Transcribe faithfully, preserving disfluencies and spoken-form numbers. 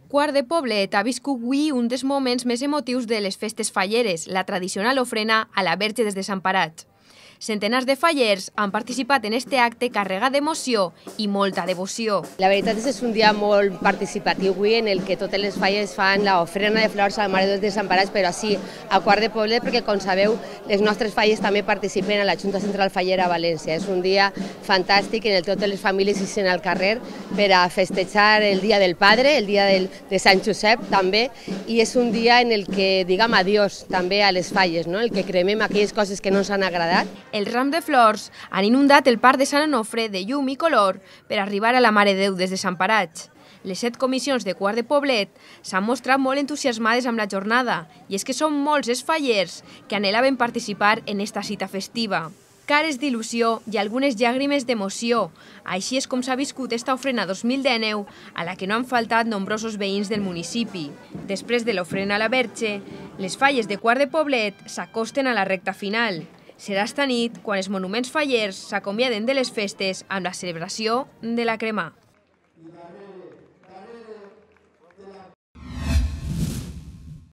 Quart de Poblet ha viscut avui un dels moments més emotius de les festes falleres, la tradicional ofrena a la Verge dels Desemparats. Centenars de fallers han participat en este acte carregat d'emoció i molta devoció. La veritat és que és un dia molt participatiu avui en el que totes les falles fan l'ofrena de flors a la Mare dels Desemparats, però sí a Quart de Poblet, perquè com sabeu les nostres falles també participen a la Junta Central Fallera a València. És un dia fantàstic en el que totes les famílies ixen al carrer per a festejar el Dia del Padre, el dia del, de Sant Josep també, i és un dia en el que diguem adiós també a les falles, no? El que cremem aquelles coses que no ens han agradat. Els rams de flors han inundat el parc de Sant Onofre de llum i color per arribar a la Mare de Déu dels Desemparats. Les set comissions de Quart de Poblet s'han mostrat molt entusiasmades amb la jornada i és que són molts els fallers que anhelaven participar en esta cita festiva. Cares d'il·lusió i algunes llàgrimes d'emoció. Així és com s'ha viscut esta ofrena dos mil dinou a la que no han faltat nombrosos veïns del municipi. Després de l'ofrena a la Verge, les falles de Quart de Poblet s'acosten a la recta final. Serà esta nit quan els monuments fallers s'acomiaden de les festes amb la celebració de la crema.